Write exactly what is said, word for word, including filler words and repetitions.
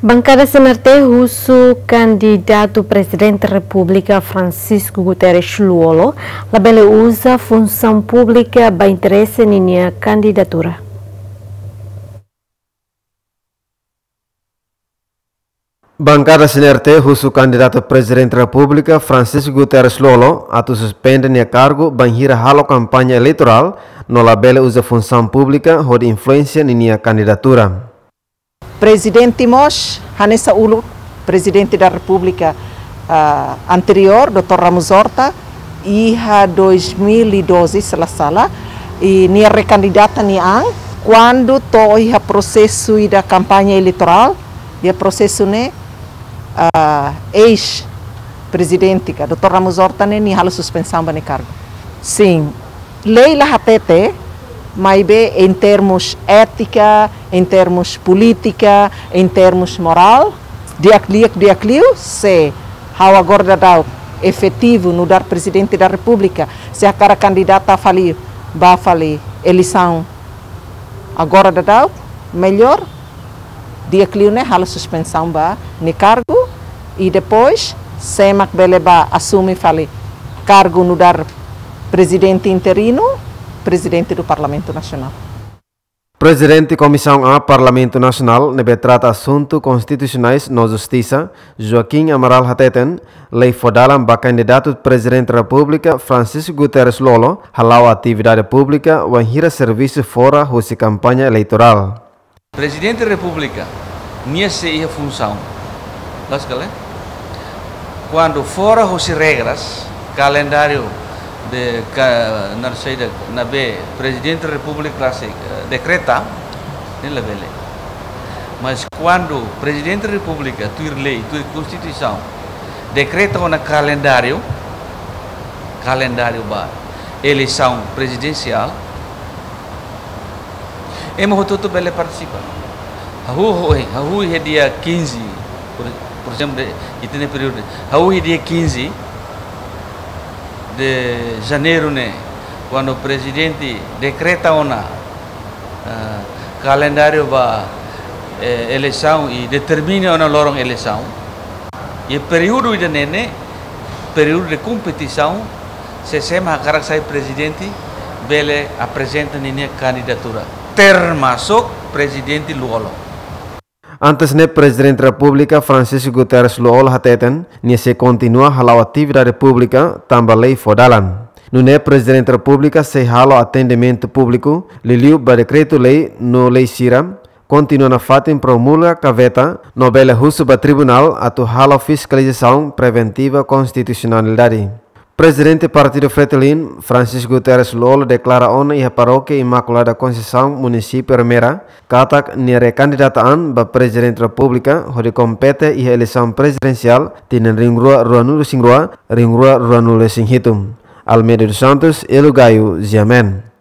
Bankada C N R T husu kandidatu Prezidente Repúblika Francisco Guterres Lú-Olo labele uza funsaun públika ba interese ninia kandidatura. Bankada C N R T husu kandidatu Prezidente Repúblika Francisco Guterres Lú-Olo atu suspende nia kargu bainhira halo kampaña eleitorál no labele uza funsaun públika hodi influénsia ninia kandidatura. Prezidente mós hanesan uluk Prezidente da Repúblika, ah, anteriór, doutór Ramos Horta, iha dois mil e doze, se la sala, i nia rekandidata nia an, kuandu to'o iha prosesu ida kampaña eleitorál, iha prosesu ne'e, ah, eis-prezidente ka doutór Ramos Horta ne'e, nia halo suspensaun ba nia kargu. Sin, lei la hatete, maibé em termos étika, em termos polítika, em termos moral, di'ak liu, di'ak liu, se ha'u agora daudaun efetivu nu'udar Prezidente da Repúblika, se hakarak kandidata fali, ba fali eleisaun agora daudaun, mellór di'ak liu ne'e halo suspensaun ba nia kargu, i depois sé mak bele ba asume fali kargu nu'udar Prezidente interinu, Prezidente do Parlamento Nacional. Prezidente Komisaun A Parlamentu Nasionál ne'ebé trata asuntu konstitusionais no justisa, Joaquim Amaral hateten, lei fó dalan ba kandidatu Prezidente Repúblika Francisco Guterres Lú-Olo hala'o atividade públika wainhira servisu fora husi kampaña eleitorál. Prezidente Repúblika, nia sei iha funsaun. Loos ka lae? Kuandu fora husi regras, kalendáriu de ka-, na saida, ne'ebé Prezidente Repúblika sei, eh, dekreta, ne'e labele. Mas kuandu Prezidente Repúblika tuir lei, tuir Konstituisaun, dekreta ona kalendáriu, kalendáriu ba eleisaun prezidensiál, ema hotu-hotu bele partisipa. Hahú, hahú, hahú iha dia quinze, por, por ezemplu, de, ita-nia períodu. Hahú iha dia quinze de Janeiru ne'e, kuandu Prezidente dekreta ona, ah, kalendáriu ba, eh, eleisaun i determina ona loron eleisaun. I períodu ida-ne'e ne'e, períodu de kompetisaun, se sé mak hakarak sai prezidente, bele aprezenta ninia kandidatura, termasuk Prezidente Lú-Olo. Antes ne'e, Prezidente Repúblika Francisco Guterres Lú-Olo hateten, nia sei kontinua hala'o atividade públika tanba lei fó dalan. Nune'e Prezidente Repúblika sei halo atendimentu públiku, liuliu ba dekretu-lei no lei sira, kontinua nafatin promulga ka veta, no bele husu ba tribunál atu halo fiskalizasaun preventiva konstitusionalidade. Prezidente Partidu Fretilin, Francisco Guterres Lú-Olo deklara ona iha Parókia Imakulada Konseisaun, Munisípiu Ermera, katak nia rekandidata an ba Prezidente Repúblika hodi kompete iha eleisaun prezidensiál tinan rihun rua ruanulu-resin-rua, rihun rua ruanulu-resin-hitu. Almeida dos Santos, Elo Gaio, G M N.